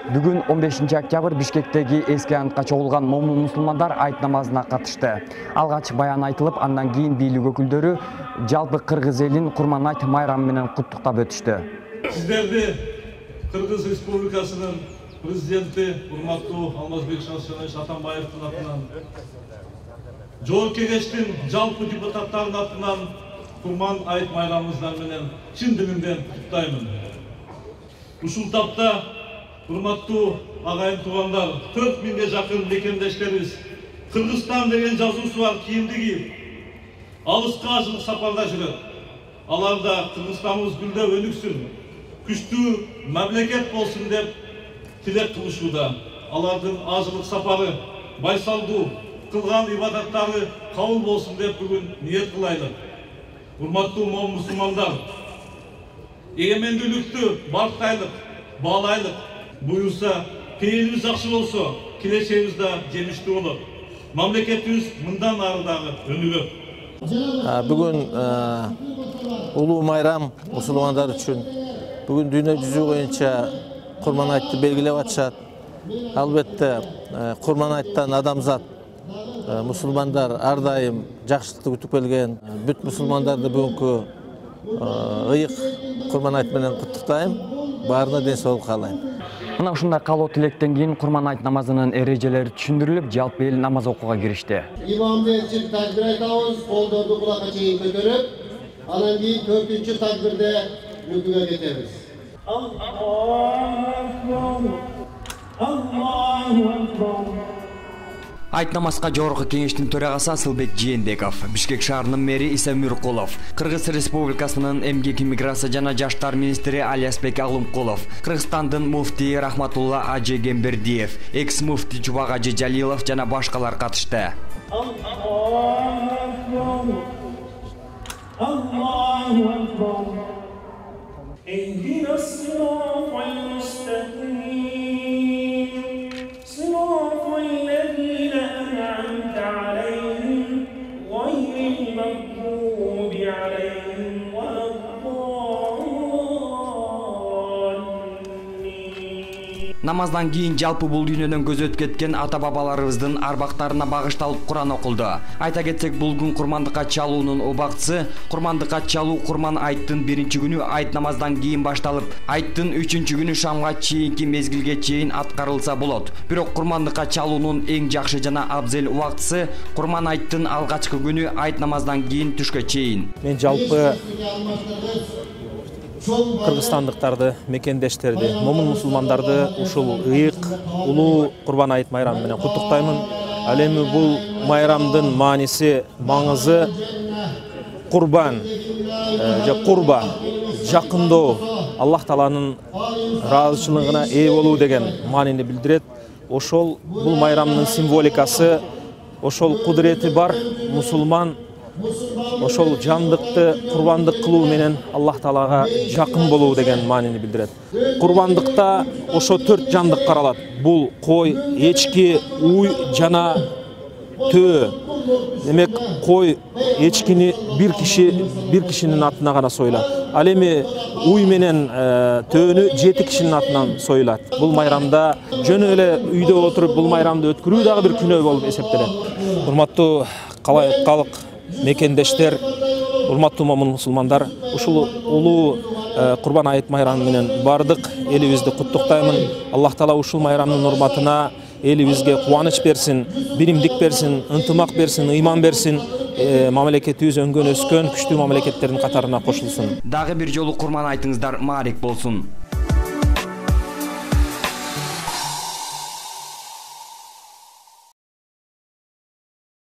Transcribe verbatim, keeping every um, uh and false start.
Бүгүн он бешинчи октябрь Бишкектеги эски антка чогулган момун мусулмандар айт намазына катышты. Алгач баян айтылып, андан кийин бийлик өкүлдөрү жалпы кыргыз элин Курман айт майрамы менен куттуктап өтүштү. Сиздерди Кыргыз Республикасынын президенти урматтуу Алмазбек Шаршенович Атамбаевдин атынан, Жогорку Кеңештин жалпы депутаттарынын атынан Курман айт майрамыңыздар менен чын дилимден куттуктаймын. Ушул тапта урматтуу агайын туугандар, төрт миңге жакын мекендештерибиз Кыргызстан деген жазуусу бар кийимди кийип, алыска ажылык сапарда жүрөт. Аларда Кыргызстаныбыз гүлдөп өнүксүн, күчтүү мамлекет болсун деп тилек кылышууда. Алардын ажылык сапары байсалдуу, кылган ибадаттары кабыл болсун деп бүгүн ниет кылайлык. Урматтуу момун мусулмандар, эгемендүүлүктү бартайлык, баалайлык. Буюрса, пейилибиз жакшы болсо, келечегибиз да жемиштүү болот. Мамлекетибиз мындан ары дагы өнүгөт. Бүгүн улуу майрам мусулмандар үчүн. Бүгүн дүйнө жүзү боюнча Курман айтты белгилеп атышат. Албетте, Курман айттан адамзат, мусулмандар ар дайым жакшылыкты күтүп келген. Бүт мусулмандарды бүгүнкү ыйык Курман айт менен куттуктайм. Баарына ден соолук каалайм. Мына ушундай калоо тилектен кийин Курман айт намазынын эрежелери түшүндүрүлүп, жалпы эл намаз окууга киришти. Имамды эрчип такбир айтабыз, колдорду кулакка чейин көтөрүп, анан кийин төртүнчү такбирде рүкүгө кетебиз. Айт намазга Жогорку Кеңештин төрагасы Асылбек Жээнбеков, Бишкек шаарынын мэри Иса Мюркулов, Кыргыз Республикасынын эмгек, иммиграция жана жаштар министри Алиасбек Алымкулов, Кыргызстандын муфтии Рахматулла Ажи Гембердиев, экс муфти Чубак Ажи Жалилов жана башкалар катышты. Намаздан кийин жалпы бул дүйнөдөн көз өтүп кеткен ата-бабаларыбыздын арбактарына багышталып Куран окулду. Айта кетсек, бул күн курмандыкка чалуунун убактысы. Курмандыкка чалуу Курман айттын биринчи күнү айт намаздан кийин башталып, айттын үчүнчү күнү шамга чейинки мезгилге чейин аткарылса болот. Бирок курмандыкка чалуунун эң жакшы жана абзел убактысы Курман айттын алгачкы күнү айт намаздан кийин түшкө чейин. Мен жалпы кыргызстандыктарды, мекендештерди, момун мусулмандарды ушул ыйык улуу Курбан айт майрамы менен куттуктаймын. Ал эми бул майрамдын мааниси, маңызы курбан же курба, жакындоо, Аллах Тааланын ыраазычылыгына ээ болуу деген маанини билдирет. Ошол бул майрамдын символикасы, ошол кудурети бар мусулман ошол жандыкты курбандык кылуу менен Аллах Таалага жакын болуу деген маанини билдирет. Курбандыкта ошо төрт жандык каралат. Бул кой, эчки, уй жана төө. Демек, кой, эчкини бир киши бир кишинин атына гана союлат. Ал эми уй менен төөнү жети кишинин атынан союлат. Бул майрамда жөн эле үйдө отуруп бул майрамды өткөрүү дагы бир күнөө болуп эсептелет. Урматтуу калк мекендештер, урматтуу момун мусулмандар, ушул улуу Курбан айт майрамы менен бардык элибизди куттуктаймын. Аллах Таала ушул майрамдын урматына элибизге кубаныч берсин, биримдик берсин, ынтымак берсин, ыйман берсин. Мамлекетибиз өнгөн өскөн күчтүү мамлекеттердин катарына кошулсун. Дагы бир жолу Курман айтыңыздар маарик болсун.